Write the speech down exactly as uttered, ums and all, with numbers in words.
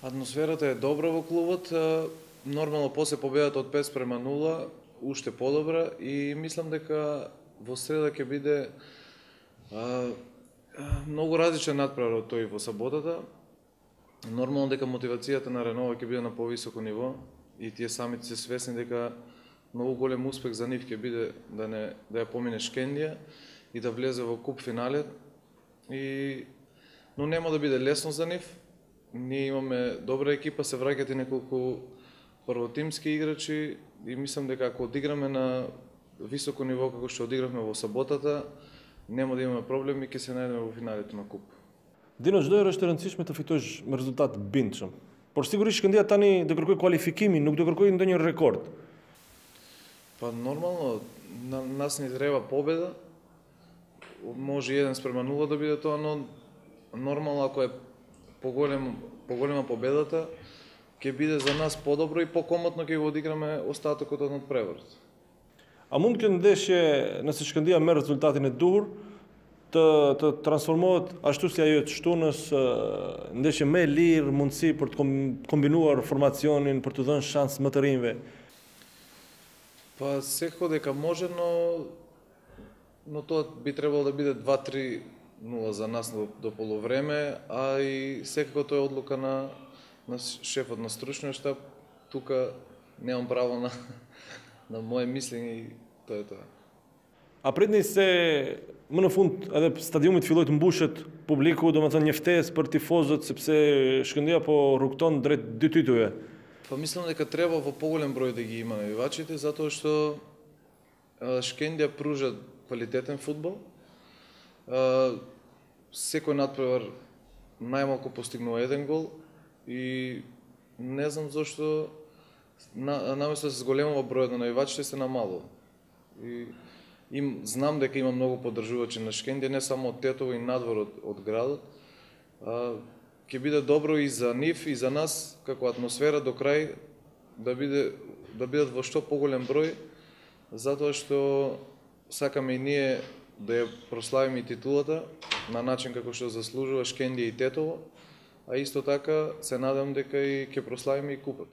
Атмосферата е добра во клубот, нормално после победата од пет спрема нула, уште подобра и мислам дека во среда ќе биде а, многу различен натпревар од тој во саботата. Нормално дека мотивацијата на Ренова ќе биде на повисоко ниво и тие самите се свесни дека многу голем успех за нив ќе биде да не да ја помине Шкендија и да влезе во куп финале. И но нема да биде лесно за нив. Ние имаме добра екипа, се враќаат и неколку првотимски играчи и мислам дека ако одиграме на високо ниво како што одигравме во саботата, нема да имаме проблеми и ќе се најдеме во финалите на куп. Dinoç do është e rëndësishme të fitosh me rezultat bindshëm. Por sigurisht Shkëndija tani do kërkoj kualifikimin, nuk do kërkoj ndonjë rekord. Па нормално на нас ни треба победа. Може еден спрема нула да биде тоа, но нормално ако е поголем поголема победата, ќе биде за нас подобро и покомотно ќе го одиграме остатокот од надпреварот. A mund kjo ndeshje, nëse Shkëndija merr rezultatin e duhur, të të transformohet ashtu si ajo të shtunës, ndeshje më e lirë, mundësi për të kombinuar formacionin, për të dhënë shans më të rinjve? Па секако дека може, но но тоа би требало да биде два три нула за нас до, до полувреме, а и секако тоа е одлука на на шефот на стручниот штаб. Тука немам право на на мое мислење и тоа е тоа. A pritni se më në fund edhe stadiumit filloi të mbushet publiku, domethënë një ftesë për tifozët sepse Shkëndija po rrugton drejt dy titujve. Па мислам дека треба во поголем број да ги има навивачите, затоа што Шкендија пружа квалитетен фудбал. Секој надпревар најмалку постигнува еден гол и не знам зошто на, наместо да се зголемува бројот на навивачите се намалува. И им знам дека има многу поддржувачи на Шкендија, не само од Тетово и надвор од, од градот. А, ќе биде добро и за нив и за нас како атмосфера до крај да биде да бидат во што поголем број, затоа што сакаме и ние да ја прославиме и титулата на начин како што заслужува Шкендија и Тетово, а исто така се надам дека и ќе прославиме и купот.